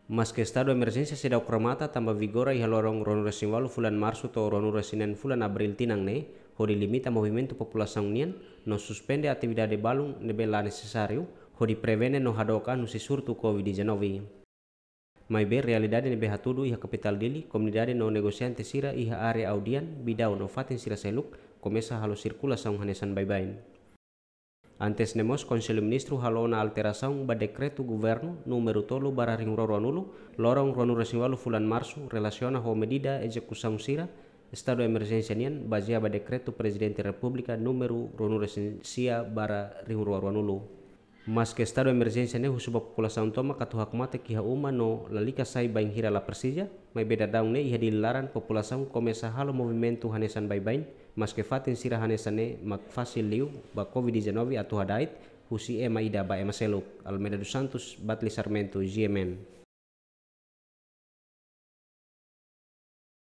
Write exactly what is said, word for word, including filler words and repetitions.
Maske estadu emerjénsia seidauk remata tanba vigora iha loron ruanulu-resin-ualu fulan Marsu to'o ruanulu-resin-neen fulan Abríl tinan ne'e, hodi limita movimentu populasaun nian, no suspende atividade balun ne'ebé la nesesáriu, hodi prevene no hadook an husi surtu COVID dezanove. Maibé realidade ne'ebé hatudu iha kapitál Dili, komunidade no negosiante sira iha área Audian, Bidau no fatin sira seluk, komesa halo sirkulasaun hanesan baibain. Antes ne'e mós, Konsellu Ministru halo ona alterasaun ba dekretu governu númeru tolu barra rihun rua ruanulu, loron ruanulu-resin-ualu fulan Marsu, relasiona ho medida ezekusaun sira estadu emerjénsia nian, bazeia ba dekretu Prezidente Repúblika númeru ruanulu-resin-sia barra rihun rua ruanulu. Maske estadu emerjénsia ne'e husu ba populasaun tomak atu hakmatek iha uma no lalika sai bainhira la presiza, maibé daudaun ne'e iha Dili laran populasaun komesa halo movimentu hanesan baibain, maske fatin sira hanesan ne'e mak fasil liu ba COVID dezanove atu hada'et husi ema ida ba ema seluk. Almeida dos Santos, Batli Sarmento, G M N.